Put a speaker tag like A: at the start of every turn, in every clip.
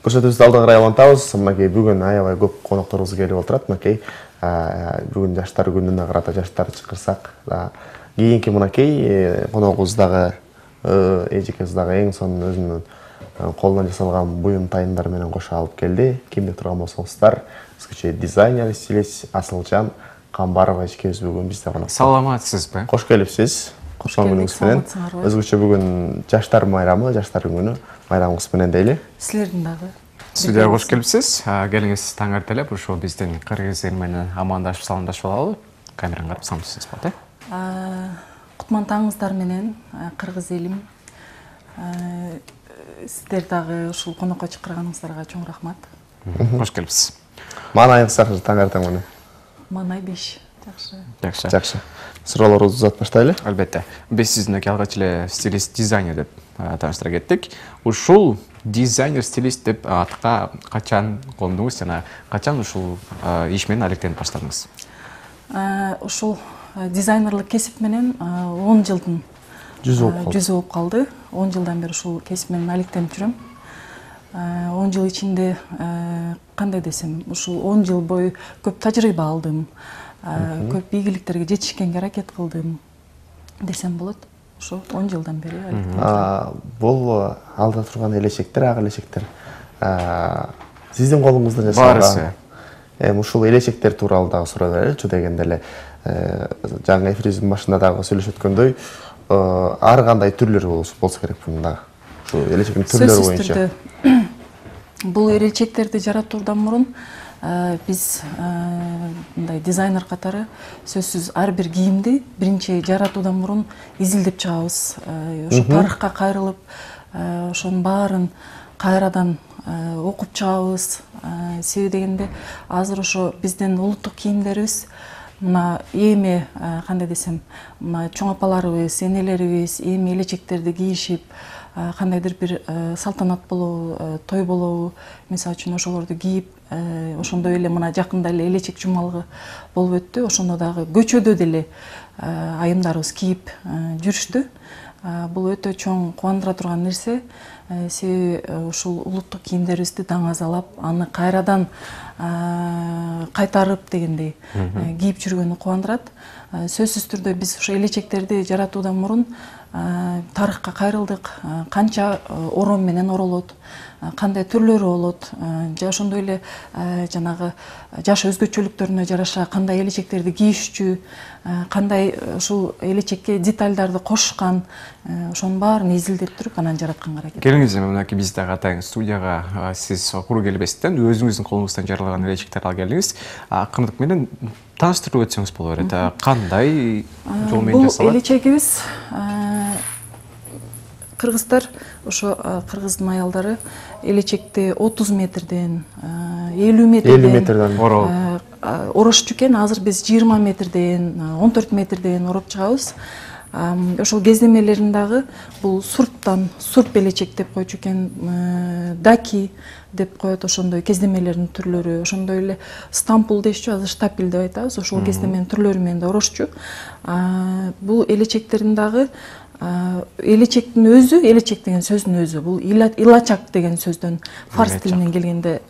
A: көрсөтүүбүздү алда карай улантабыз. Мынакей бүгүн аябай көп конокторубуз келип отурат. Мынакей бүгүн жаштар күнүнө карата жаштар чакырсак, кийинки мынакей коногубуз дагы эжекебиз дагы эң сонун өзүнүн колунан жасалган буюм тайындар менен кошо алып келди. Ким деп турган болсоңуздар, өзгөчө дизайнер, стилист Асылжан Камбарова эжекебиз бүгүн бизде конокто.
B: Саламатсызбы?
A: Кош келипсиз. Коштон күнүңүз менен. Өзгөчө бүгүн жаштар майрамы, жаштар күнү майрамыңыз менен дейли.
C: Силердин дагы.
B: Студияга кош келипсиз. Келиңиз таң эртелеп ушул биздин кыргыз эл менен амандашып саламдашып алалы. Камераны карап саламсыз болот,
C: Кутман таңыңыздар менен кыргыз элим. Сиздер дагы ушул конокко чакырганыңыздарга чоң рахмат.
B: Кош келипсиз.
A: Маанайыңыз жакшы, таң эртең менен.
C: Маанай 5. Жакшы.
A: Жакшы. Суроолорубузду uzatып баштайлы.
B: Албетте. Биз сизди алгач эле стилист, дизайнер деп тааныштыра кеттик. Ушул дизайнер, стилист деп атка качан кондуңуз жана качан ушул иш менен алектенип баштадыңыз?
C: Ушул дизайнерлык кесип менен 10 жылдын жүзү болуп калды. 10 жылдан бери ушул кесип менен алектенип жүрөм. 10 жыл ичинде кандай десем, ушул 10 жыл бою көп тажрыйба алдым. Көп ийгиликтерге жетишкенге аракет кылдым десем болот. Ошо 10 жылдан бери алектенип.
A: Бул алда турган элечектер, ак элечектер сиздин колуңузда жасалган.
B: Баарысы.
A: Ушул элечектер тууралуу дагы сурай береличи дегенде эле жаңы эфирибиздин башында дагы сүйлөшүп өткөндөй, ар кандай түрлөрү болсо керек bunun дагы. Ушул элечектин түрлөрү боюнча.
C: Бул элечектерди жаратуудан мурун биз мындай дизайнер катары сөзсүз ар бир кийимди биринчи жаратуудан мурун изилдеп чыгабыз. Ошо тарыхка кайрылып, ошонун баарын кайрадан окуп чыгабыз. Себеби дегенде азыр ошо биздин улуттук кийимдерибиз мына эми кандай десем, мына чоң апаларыбыз, энелерибиз эми элечектерди кийишип, кандайдыр бир салтанат болобу, той болобу, мисалы үчүн ошолорду кийип, ошондой эле мына жакында эле элечек жумалыгы болуп өттү. Ошондо дагы көчөдө деле айымдарыбыз кийип жүрүштү. Бул өтө чоң кубандыра турган нерсе. Себеби ушул улуттук кийимдерибизди даңазалап, аны кайрадан кайтарып дегендей кийип жүргөнү кубандырат. Сөзсүз түрдө биз ошо элечектерди жаратуудан мурун тарыхка кайрылдык, канча орон менен оролот, кандай түрлөрү болот, ошондой эле жанагы жаш өзгөчөлүктөрүнө жараша кандай элечектерди кийишчү, кандай ушул элечекке детальдарды кошкан, ошонун баарын изилдеп туруп анан жаратканга аракет.
B: Келиңиз, мынакей биз дагы атайын студияга сиз куру келбестен өзүңүздүн колуңуздан жаралган элечектерди алып келдиңиз. Акырындык менен тааныштырып өтсөңүз боло берет. Кандай жол менен жасалат?
C: Бул элечегибиз кыргыздар, ошо кыргыздын аялдары элечекти 30 метрден, 50 метрден орошчу экен. Азыр биз 20 метрден, 14 метрден ороп чыгабыз. Ошол кездемелерин дагы бул сурп элечек деп койчу экен, даки деп коет, ошондой кездемелердин түрлөрү, ошондой эле стампул дешчү, азыр штапель деп айтабыз. Ошол кездеменин түрлөрү менен да орошчу. Бул элечектердин дагы элечектин өзү, элечек деген сөздүн өзү, бул илачак деген сөздөн фарс тилинен келгенде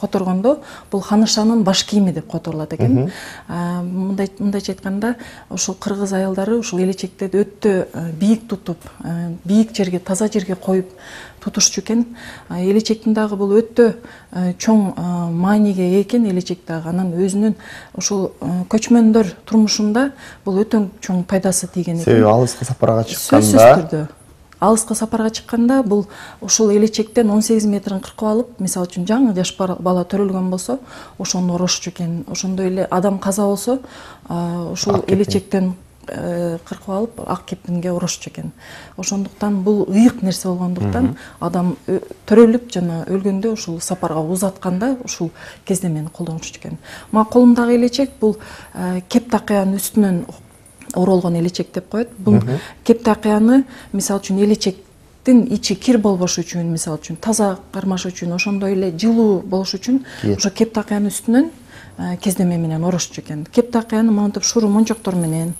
C: которгондо, бул ханышанын баш кийими деп которулат экен. Мындайча айтканда, ушул кыргыз аялдары ушул элечектерди өтө бийик тутуп, бийик жерге, таза жерге коюп тутушчу экен. Элечектин дагы бул өтө чоң мааниге ээ экен элечек дагы. Анан өзүнүн ушул көчмөндөр турмушунда бул өтө чоң пайдасы тийген экен.
A: Себеби алыска сапарга чыкканда,
C: сөзсүз түрдө алыска сапарга чыкканда бул ушул элечектен 18 метрин кыркып алып, мисалы үчүн жаңы жаш бала төрөлгөн болсо, ошону орошчу экен. Ошондой эле адам каза болсо, ушул элечектен кыркып алып ак кепинге орошчу экен. Ошондуктан бул ыйык нерсе болгондуктан адам төрөлүп жана өлгөндө ушул сапарга узатканда ушул кездемени колдонушчу экен. Мага колумдагы элечек бул кеп такыянын үстүнөн оролгон элечек деп коет. Бул кеп такыяны мисалы үчүн элечектин ичи кир болбош үчүн, мисалы үчүн таза кармаш үчүн, ошондой эле жылуу болуш үчүн ошо кеп такыянын үстүнөн кездеме менен орошчу экен. Кеп такыяны монтип шуру мончоктор менен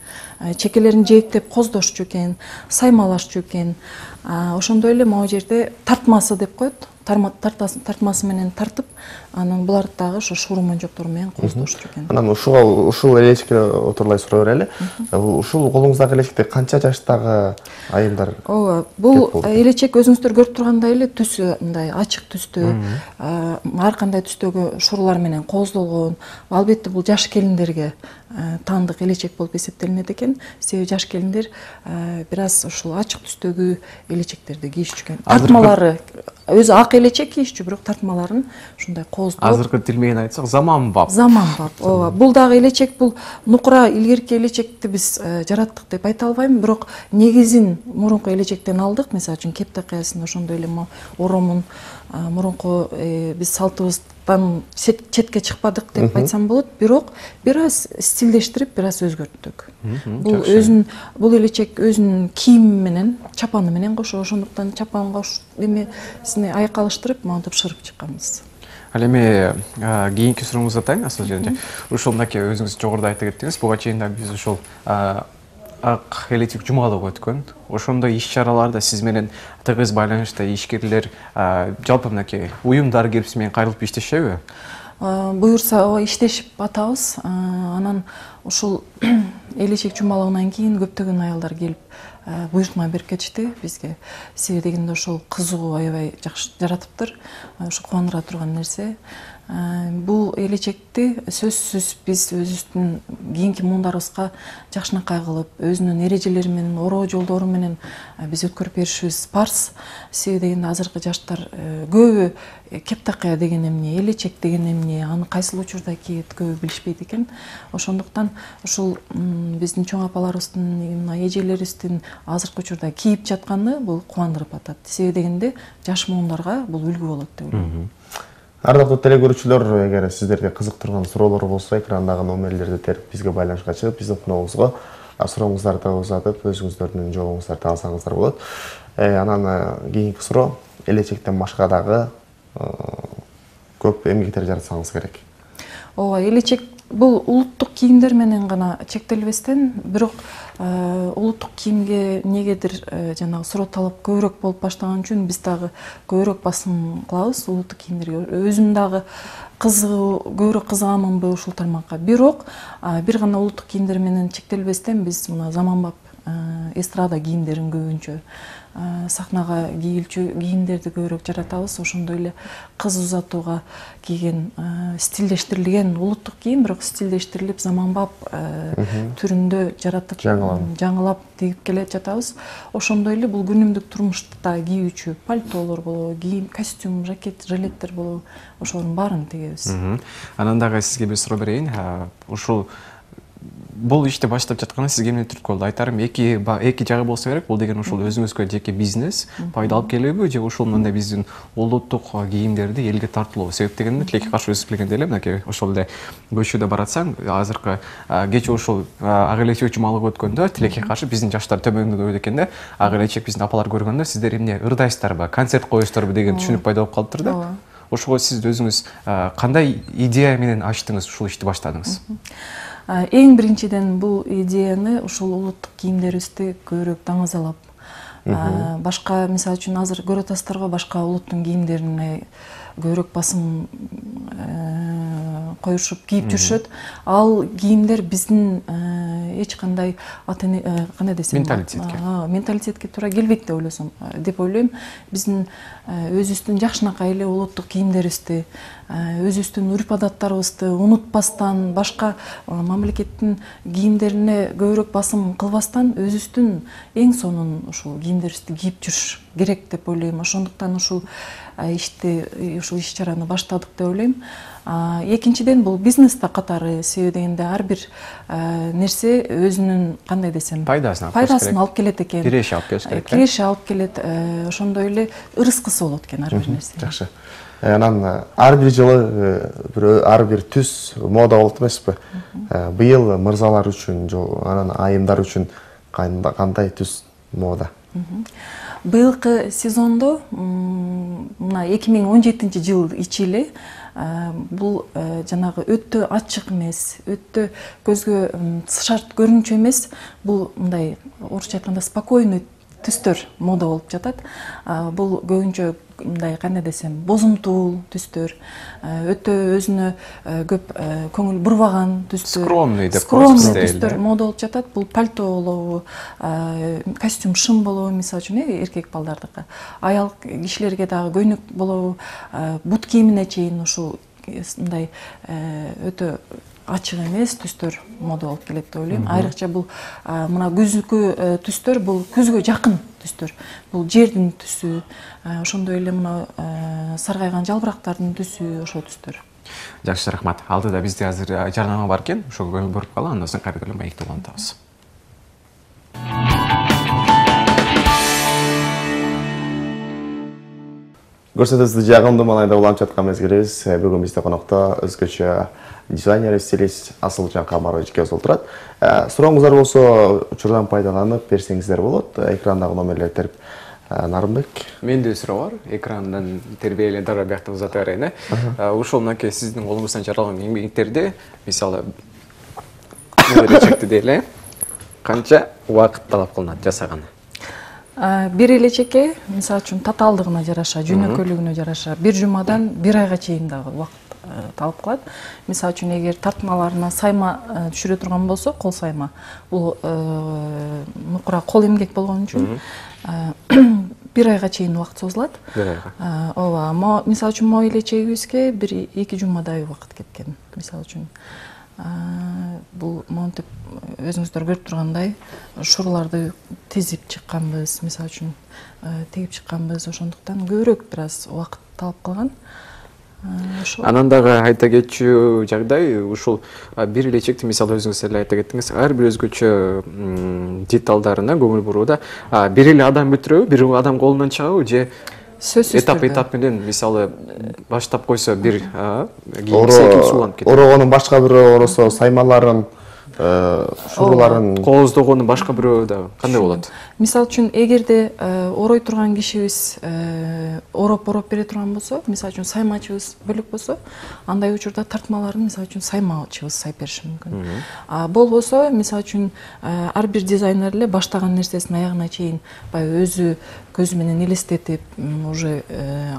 C: чекелерин жээктеп коздошчу экен, саймалашчу экен. Ошондой эле могу жерде тартмасы деп коет. тартмасы менен тартып, анан буларды дагы ошо шурманжоктор менен кооздошчу экен.
A: Анан ушул элечекке отурлай суроо берели. Ушул колуңуздагы элечекте канча жаштагы айымдар?
C: Ооба, бул элечек өзүңүздөр көрүп тургандай эле түсү мындай ачык түстүү, ар кандай түстөгү шурулар менен кооздолгон. Албетте бул жаш келиндерге таандык элечек болуп эсептелинет экен. Себеби жаш келиндер бир аз ушул ачык түстөгү элечектерди кийишчү экен. Тартмалары өзү ак элечек кийишчү, бирок тартмаларын ушундай кооздоп.
B: Азыркы тил менен айтсак, заманбап.
C: Заманбап. Ооба. Бул дагы элечек, бул нукура илгерки элечекти биз жараттык деп айта албайм, бирок негизин мурунку элечектен алдык. Мисалы үчүн кептакаясында ошондой эле оромун мурунку биз салтыбыздан четке чыкпадык деп айтсам болот, бирок бир аз стилдештирип, бир аз өзгөрттүк. Бул элечек өзүнүн кийими менен, чапаны менен кошо, ошондуктан чапанга эмесине айкалыштырып, монтип шырып чыкканбыз.
B: Ал эми кийинки сурооңузду атайын, Асыл эже. Ушул мынакей өзүңүз жогоруда айтып кеттиңиз, буга чейин да биз ушул ак элечек жумалыгы өткөн. Ошондой иш-чараларда сиз менен тыгыз байланышта ишкерлер, жалпы мынакей уюмдар келип сиз менен кайрылып иштешеби?
C: Буюрса, иштешип атабыз. Анан ушул элечек жумалыгынан кийин көптөгөн аялдар келип буйртма берип кетишти бизге. Себеби дегенде ошол кызыгуу аябай жакшы жаратыптыр. Ушу кубандыра турган нерсе. Бул элечекти сөзсүз биз өзүбүздүн кийинки муундарыбызга жакшынакай кылып, өзүнүн эрежелери менен, ороо жолдору менен биз өткөрүп беришибиз парз. Себеби дегенде азыркы жаштар көбү кептакая деген эмне, элечек деген эмне, аны кайсыл учурда кийет көбү билишпейт экен. Ошондуктан ушул биздин чоң апаларыбыздын, эжелерибиздин азыркы учурда кийип жатканы бул кубандырып атат. Себеби дегенде жаш муундарга бул үлгү болот деп ойлойм.
A: Ардактуу телекөрүүчүлөр, эгер сиздерге кызыктырган суроолор болсо, экрандагы номерлерди терип бизге байланышка чыгып, биздин коногубузга сурооңуздарды узатып, өзүңүздөрдүн жообуңуздарды алсаңыздар болот. Анан кийинки суроо, элечектен башка дагы көп эмгектер жаратсаңыз керек.
C: Ооба, элечек бул улуттук кийимдер менен гана чектелбестен, бирок улуттук кийимге негедир жанагы суроо талап көбүрөөк болуп баштаган үчүн биз дагы көбүрөөк басым кылабыз улуттук кийимдерге. Өзүм дагы көбүрөөк кызыганмынбы ушул тармакка. Бирок бир гана улуттук кийимдер менен чектелбестен биз мына заманбап эстрада кийимдерин көбүнчө сахнага кийилчү кийимдерди көбүрөөк жаратабыз. Ошондой эле кыз узатууга кийген стилдештирилген улуттук кийим, бирок стилдештирилип заманбап түрүндө жаратып, жаңылап тигип келе жатабыз. Ошондой эле бул күнүмдүк турмушта кийүүчү пальтолор болобу, кийим, костюм, жакет, жилеттер болобу, ошолордун баарын тигебиз.
B: Анан дагы сизге бир суроо берейин. Ушул бул ишти баштап жатканы сизге эмне түрткү болду? Айтарым, эки жагы болсо керек. Бул деген ушул өзүңүзгө жеке бизнес пайда алып келеби же ушул мындай биздин улуттук кийимдерди элге тартуулоо? Себеп дегенде тилекке каршы өсүп келгенде эле мынакей ошол эле көчөдө баратсаң, азыркы кечээ ушул ак элечек жумалыгы өткөндө тилекке каршы биздин жаштар төмөндө койду экен да. Ак элечек биздин апалар көргөндө сиздер эмне ырдайсыздарбы, концерт коесуздарбы деген түшүнүк пайда болуп калыптыр да. Ошого сиз өзүңүз кандай идея менен ачтыңыз, ушул ишти баштадыңыз?
C: Эң биринчиден бул идеяны ушул улуттук кийимдерибизди көбүрөөк даңазалап, башка, мисалы үчүн азыр көрүп атасыздарбы, башка улуттун кийимдерине көбүрөөк басым коюшуп кийип жүрүшөт. Ал кийимдер биздин эч кандай кандай десем, менталитетке туура келбейт деп ойлойм. Биздин өзүбүздүн жакшынакай эле улуттук кийимдерибизди, өзүбүздүн үрп адаттарыбызды унутпастан, башка мамлекеттин кийимдерине көбүрөөк басым кылбастан, өзүбүздүн эң сонун ушул кийимдерибизди кийип жүрүш керек деп ойлойм. Ошондуктан ушул иш-чараны баштадык деп ойлойм. Экинчиден бул бизнеста катары, себеби дегенде ар бир нерсе өзүнүн кандай десем, пайдасын алып келет экен.
B: Киреше алып келиш керек.
C: Киреше алып келет, ошондой эле ырыскысы болот экен ар бир нерсе.
A: Жакшы. Анан ар бир жылы ар бир түс мода болот эмеспи? Быйыл мырзалар үчүн, анан айымдар үчүн кандай түс мода?
C: Быйылкы сезондо, мына 2017 жыл ичи эле бул жанагы өтө ачык эмес, өтө көзгө шарт көрүнчү эмес, бул мындай орусча айтканда спокойный түстөр мода болуп жатат. Бул көбүнчө мындай кандай десем, бозумтул түстөр, өтө өзүнө көп көңүл бурбаган түстөр,
B: скромный деп
C: түстөр мода болуп жатат. Бул пальто болобу, костюм шым болобу, мисалы үчүн эркек балдардыкы. Аял кишилерге дагы көйнөк болобу, бут кийимине чейин ушул мындай өтө ачык эмес түстөр мода болуп келет деп ойлойм. Айрыкча бул мына күзгү түстөр, бул күзгө жакын түстөр. Бул жердин түсү, ошондой эле мына саргайган жалбырактардын түсү, ошол түстөр.
B: Жакшы, рахмат. Алдыда бизде азыр жарнама бар экен, ошого көңүл буруп калалы, андан соң кайрадан эле маекти улантабыз.
A: Көрсөтүүбүздү жагымдуу маанайда уланып жаткан мезгилибиз. Бүгүн бизде конокто өзгөчө дизайнер, стилист Асылжан Калмарович кез отурат. Сурооңуздар болсо учурдан пайдаланып берсеңиздер болот. Экрандагы номерлерди терип Нарымбек.
B: Менде суроо бар. Экрандан тербиеле дара биякта узата берейин. Ушул мынакей сиздин колуңуздан жаралган эмгектерди, мисалы, элечекти дейле, канча убакыт талап кылынат жасаганы?
C: Бир элечекке, мисалы үчүн татаалдыгына жараша, жөнөкөйлүгүнө жараша, бир жумадан бир айга чейин дагы убакыт талап кылат. Мисалы үчүн эгер тартмаларына сайма түшүрө турган болсо, кол сайма, бул мукура кол эмгек болгон үчүн бир айга чейин убакыт созулат.
B: Бир айга.
C: Ооба, мисалы үчүн могу элечегибизге бир 2 жумадай убакыт кеткен. Мисалы үчүн бул монтип өзүңүздөр көрүп тургандай шурларды тизип чыкканбыз, мисалы үчүн тегип чыкканбыз, ошондуктан көбүрөөк бир аз убакыт талап кылган.
B: Анан дагы айта кетчү жагдай, ушул бир элечекти мисалы өзүңүз эле айта кеттиңиз, ар бир өзгөчө деталдарына көңүл бурууда. Бир эле адам бүтүрөбү, бир адам колунан чыгабы же этап менен мисалы баштап койсо бир кийим сууланып кетет.
A: Орогонун башка бирөө оросо саймаларын, шуруларын,
B: кооздогону башка бирөө дагы кандай болот?
C: Мисалы үчүн эгерде орой турган кишибиз ороп бере турган болсо, мисалы үчүн саймачыбыз бөлөк болсо, андай учурда тартмаларын мисалы үчүн саймачыбыз сайып бериши мүмкүн. Болбосо, мисалы үчүн ар бир дизайнер эле баштаган нерсесин аягына чейин баягы өзү көзү менен элестетип, уже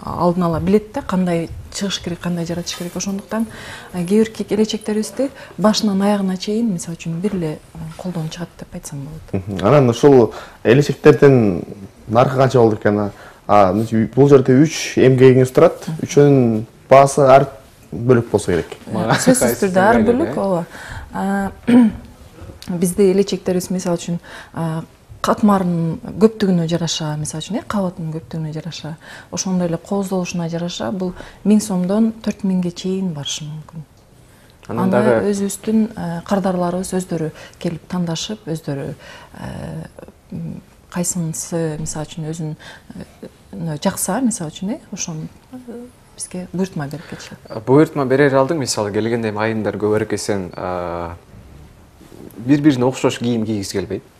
C: алдын ала билет да, кандай чыгыш керек, кандай жаратыш керек. Ошондуктан кээ бир элечектерибизди башынан аягына чейин мисалы үчүн бир эле колдон чыгат деп айтсам болот.
A: Анан ушул элечектердин наркы канча болду экен? Бул жерде 3 эмгегиңиз турат. Үчөөнүн баасы ар бөлөк болсо керек.
C: Сөзсүз түрдө ар бөлөк, ооба. Бизде элечектерибиз мисалы үчүн катмарынын көптүгүнө жараша, мисалы үчүн кабатынын көптүгүнө жараша, ошондой эле кооздолушуна жараша бул 1000 сомдон 4000ге чейин барышы мүмкүн. Анан дагы өзүбүздүн кардарларыбыз өздөрү келип тандашып, өздөрү кайсынысы мисалы үчүн өзүнө жакса, мисалы үчүн ошону бизге буйртма берип кетишет.
B: Буйртма берер алдың, мисалы келгенде айымдар көбүрөөк эсен бири-бирине окшош кийим кийгиси келбейт.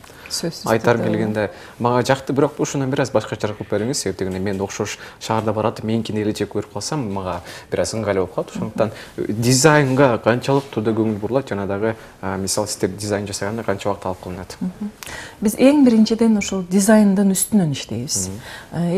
B: Айтар келгенде мага жакты, бирок ушунан бир аз башкача кылып бериңиз, себеп дегенде мен окшош шаарда баратып, меникини элечек көрүп калсам, мага бир аз ыңгайлуу болуп калат. Ошондуктан дизайнга канчалык да көңүл бурулат, жана дагы мисалы сиздер дизайн жасаганда канча убакыт алып калынат?
C: Биз эң биринчиден ошол дизайндын үстүнөн иштейбиз.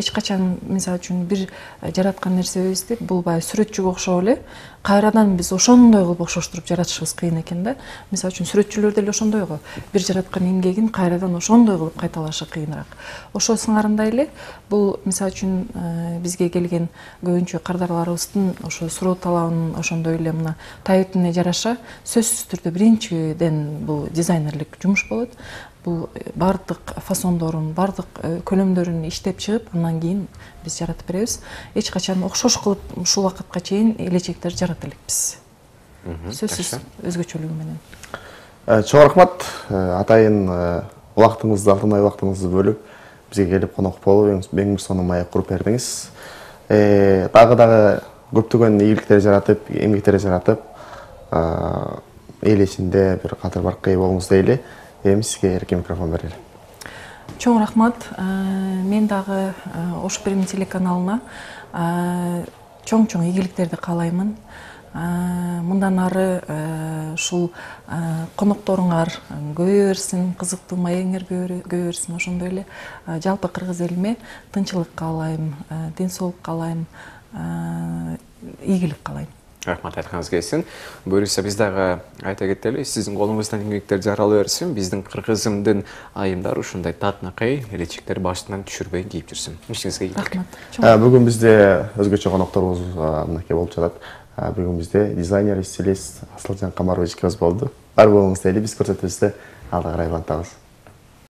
C: Эч качан мисалы үчүн бир жараткан нерсебизди бул баягы сүрөтчүгө окшоп эле кайрадан биз ошондой кылып окшоштуруп жаратышыбыз кыйын экен да. Мисалы үчүн сүрөтчүлөр деле ошондой го. Бир жараткан эмгегин кайрадан ошондой кылып кайталашы кыйыныраак. Ошол сыңарындай эле бул мисалы үчүн бизге келген көбүнчө кардарларыбыздын ошо суроо талабынын ошондой эле мына таебине жараша сөзсүз түрдө биринчиден бул дизайнерлик жумуш болот. Бул бардык фасондорун, бардык көлөмдөрүн иштеп чыгып, андан кийин биз жаратып беребиз. Эч качан окшош кылып ушул убакытка чейин элечектер жарата элекпиз. Сөзсүз өзгөчөлүгү менен.
A: Чоң рахмат. Атайын убактыңызды, алтынай убактыңызды бөлүп бизге келип конок болуп, эң бир сонун маек куруп бердиңиз. Дагы көптөгөн ийгиликтер жаратып, эмгектер жаратып, эл ичинде бир катар баркы болуңуз дейли. Эми сизге эркин микрофон берели.
C: Чоң рахмат. Мен дагы Ош Перми телеканалына чоң-чоң ийгиликтерди каалаймын. мындан ары ушул конокторуңар көбөйө берсин, кызыктуу маегиңер көбөйө берсин. Ошондой эле жалпы кыргыз элиме тынчылык каалайм, ден соолук каалайм, ийгилик каалайм.
B: Рахмат, айтканыңыз келсин. Буюрса биз дагы айта кетели, сиздин колуңуздан эмгектер жарала берсин, биздин кыргызымдын айымдары ушундай татынакай элечектер башынан түшүрбөй кийип жүрсүн. Ишиңизге ийгилик.
C: Рахмат.
A: Бүгүн бизде өзгөчө конокторубуз мынакей болуп жатат. Бүгүн бизде дизайнер, стилист Асылжан Камарович экөөбүз болду. Бар болуңуз дейли, биз көрсөтүүбүздү алда карай улантабыз.